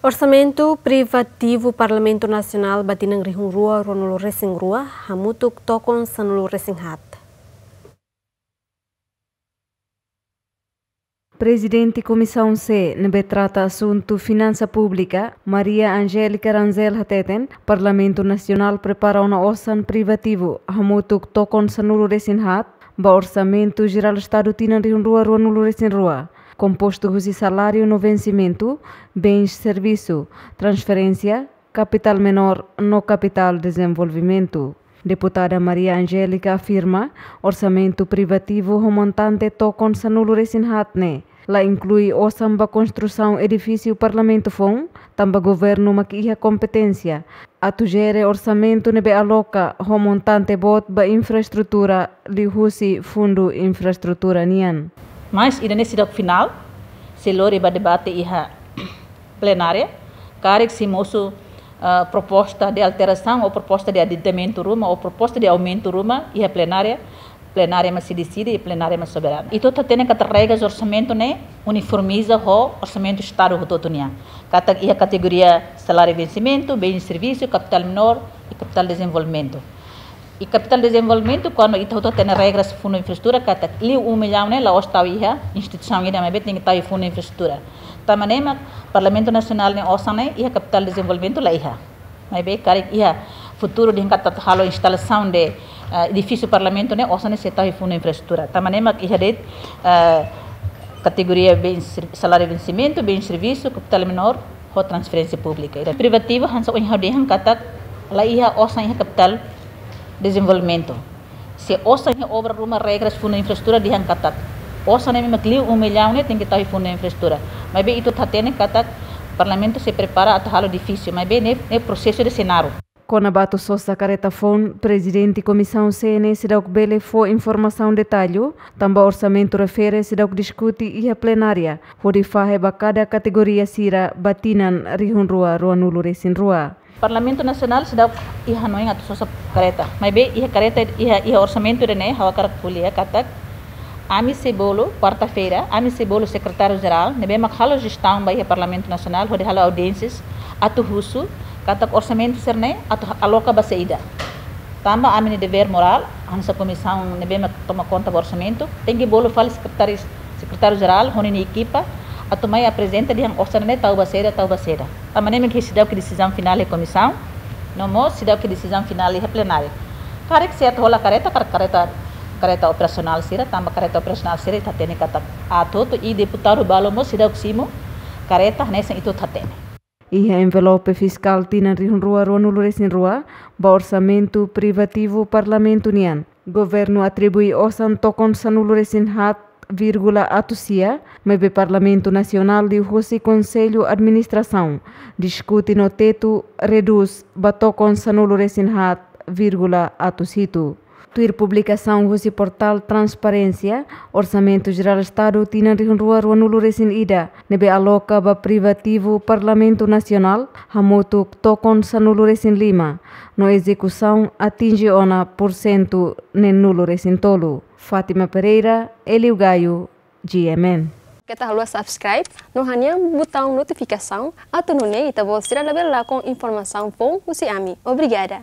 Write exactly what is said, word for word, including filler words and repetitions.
Orsamentu privativu Parlamentu Nasionál ba tinan rihun rua ruanulu resin rua hamutuk tokon sanulu resin haat. Prezidente Komisaun C ne'ebé trata asuntu finansa públika, Maria Angélica Rangel hateten, Parlamentu Nasionál prepara ona osan privativu hamutuk tokon sanulu resin haat ba Orsamentu Jerál Estadu tinan rihun rua ruanulu resin rua, kompostu husi saláriu no vensimentu, bens servisu, transferénsia, kapitál menór no kapitál dezenvolvimentu. Deputada Maria Angélica afirma, orsamentu privativu ho montante tokon sanulu resin haat ne'e la inklui osan ba konstrusaun edifísiu Parlamentu foun, tanba governu mak iha kompeténsia atu jere orsamentu ne'ebé aloka ho montante boot ba infraestrutura liuhusi Fundu Infraestrutura nian. Mas ida-ne'e seidauk finál, sei lori ba debate iha plenária, karik sei mosu, ah, proposta de alterasaun ou proposta de aditamentu ruma ou proposta de aumentu ruma iha plenária, plenária mak sei deside, plenária mak soberanu. Ita hatene katak regras orsamentu ne'e uniformiza ho orsamentu Estadu hotu-hotu nian. Katak iha kategoria saláriu vensimentu, bens servisu, kapitál menór i kapitál dezenvolvimentu. I kapitál dezenvolvimentu, kuandu ita hotu hatene regras Fundu Infraestrutura, katak liu um milhão ne'e la'ós tau iha instituisaun ida, maibé tenke tau iha Fundu Infraestrutura. Tanba ne'e mak Parlamentu Nasionál nia osan ne'e iha kapitál dezenvolvimentu la iha. Maibé karik iha futuru dehan katak halo instalasaun de, eh, edifísiu Parlamentu ne'e, osan ne'e sei tau iha Fundu Infraestrutura. Tanba ne'e mak iha de'it, eh, kategoria bens ser-, saláriu vensimentu, bens servisu, kapitál menór, ho transferénsia públika. Ida privativu hanesan ohin ha'u dehan katak la iha osan iha kapitál dezenvolvimentu. Se osan iha obra ruma, regras Fundu Infraestrutura dehan katak osan ne'e mak liu um milhão ne'e tenke tau iha Fundu Infraestrutura. Maibé ita hotu hatene katak Parlamentu sei prepara atu halo edifísiu, maibé ne'e, ne'e prosesu ida sei naruk. Kona-ba atu sosa kareta foun, Prezidente Komisaun C ne'e seidauk bele fó informasaun detallu, tanba orsamentu refere seidauk diskute iha plenária, hodi fahe ba kada kategoria sira ba tinan rihun rua ruanulu resin rua. Parlamentu Nasionál seidauk iha hanoin atu sosa kareta. Maibé iha kareta, iha, iha orsamentu ida-ne'e, ha'u hakarak ko'alia katak ami sei bolu, kuarta-feira, ami sei bolu Sekretáriu Jerál ne'ebé mak halo jestaun ba iha Parlamentu Nasionál, hodi halo audiénsias, atu husu katak orsamentu sira-ne'e atu aloka ba saida. Tanba ami-nia devér morál, hanesan komisaun ne'ebé mak toma konta ba orsamentu, tenke bolu fali sekretáriu, Sekretáriu Jerál ho ninia ekipa, atu mai aprezenta dehan osan ne'e tau ba saida, tau ba saida. Tanba ne'e mak seidauk desizaun finál iha komisaun, no mós seidauk desizaun finál iha plenária. Karik sei atu hola kareta, karik kareta, kareta operasionál sira, tanba kareta operasionál sira ita hatene katak aat hotu, i deputadu balu mós seidauk simu kareta hanesan ita hotu hatene. Iha envelope fiskál tinan rihun rua ruanulu resin rua ba orsamentu privativu Parlamentu nian, governu atribui osan tokon sanulu resin haat vírgula atus sia, maibé Parlamentu Nasionál liuhusi Konsellu Administrasaun diskute no tetu redús ba tokon sanulu resin haat vírgula atus hitu. Tuir publikasaun husi portál Transparénsia, Orsamentu Jerál Estadu tinan rihun rua ruanulu resin ida ne'ebé aloka ba privativu Parlamentu Nasionál hamutuk tokon sanulu resin lima, no ezekusaun atinje ona pursentu neenulu resin tolu. Fátima Pereira, Hélio Gaio, G M N. Keta haluha subscribe no hanehan butaun notifikasaun, atu nune'e ita-boot sira labele lakon informasaun foun husi ami. Obrigada.